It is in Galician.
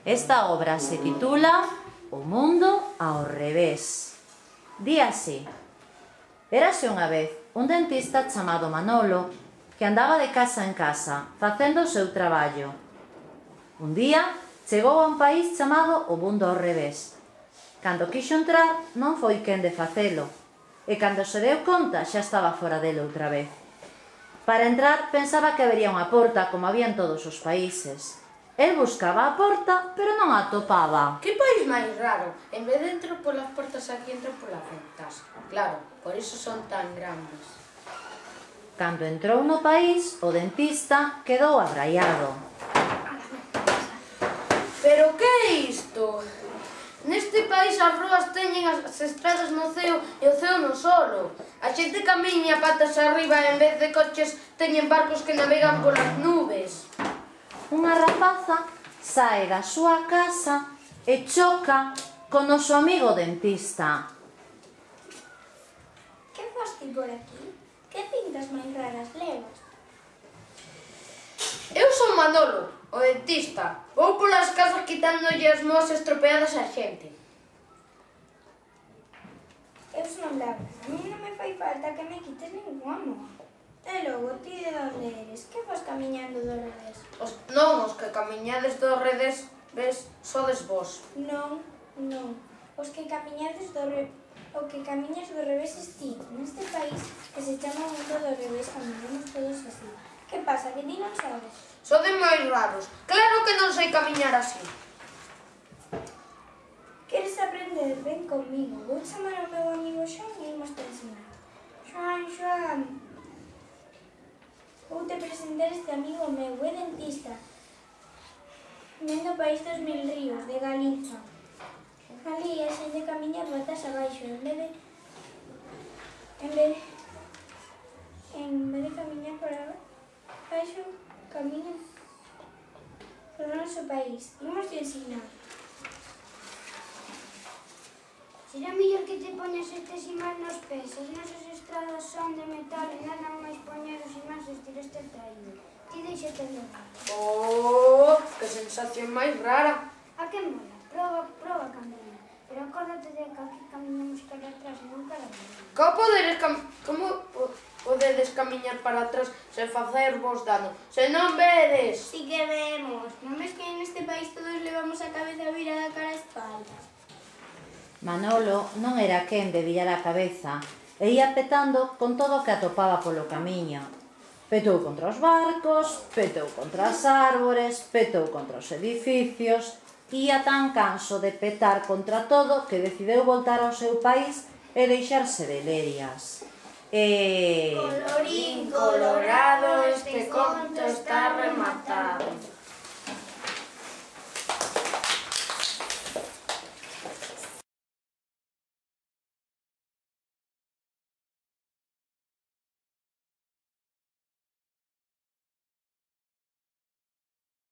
Esta obra se titula O mundo ao revés. Di así: érase unha vez un dentista chamado Manolo que andaba de casa en casa facendo o seu traballo. Un día chegou a un país chamado o mundo ao revés. Cando quixo entrar non foi quen de facelo e cando se deu conta xa estaba fora dele outra vez. Para entrar pensaba que habería unha porta como había en todos os países. El buscaba a porta, pero non a atopaba. Que país máis raro. En vez de entrar polas portas, aquí entran polas ventas. Claro, por iso son tan grandes. Cando entrou no país, o dentista quedou abraiado. Pero que é isto? Neste país as ruas teñen as estradas no ceo e o ceo no solo. A xente camiña patas arriba e en vez de coches teñen barcos que navegan polas nubes. Unha rapaza sae da súa casa e choca con o noso amigo dentista. Que fas ti por aquí? Que pintas máis raras levas? Eu son Manolo, o dentista. Vou polas casas quitándolle as moas estropeadas á xente. Eu son Laura. A mí non me fai falta que me quites ninguna moa. E logo, ti de onde eres? Que vas camiñando do revés? Non, os que camiñades do revés, ves, sodes vos. Non. Os que camiñades do revés... O que camiñas do revés es ti. Neste país que se chama mundo do revés camiñamos todos así. Que pasa, que ti non sabes? Sodes máis raros. Claro que non sei camiñar así. Queres aprender? Ven comigo. Vou chamar ao meu amigo Xoan e imos te ensinar. Xoan. Vou te presentar este amigo meu, é dentista. Ven do país dos mil ríos, de Galiza. Ali a xente camiña patas abaixo, en vez de camiñar por abaixo, camiña por o noso país. Imos te ensinar. Será mellor que te poñas estes imáns nos pés. As nosas estradas son de metal e nada máis poñer os imáns e estireste traído. Ti deixate levar. Oh, que sensación máis rara. A que mola? Proba camiñar. Pero acórdate de que aquí camiñamos cara atrás e non cara atrás. Como podedes camiñar para atrás sen facer vos dano? Se non vedes! Si que vemos. Non ves que neste país todos levamos a cabeza virada cara a espalda? Manolo non era quen de virar a cabeza e ia petando con todo o que atopaba polo camiño. Petou contra os barcos, petou contra as árbores, petou contra os edificios. Ia tan canso de petar contra todo que decideu voltar ao seu país e deixarse de lerias. Colorín colorado, este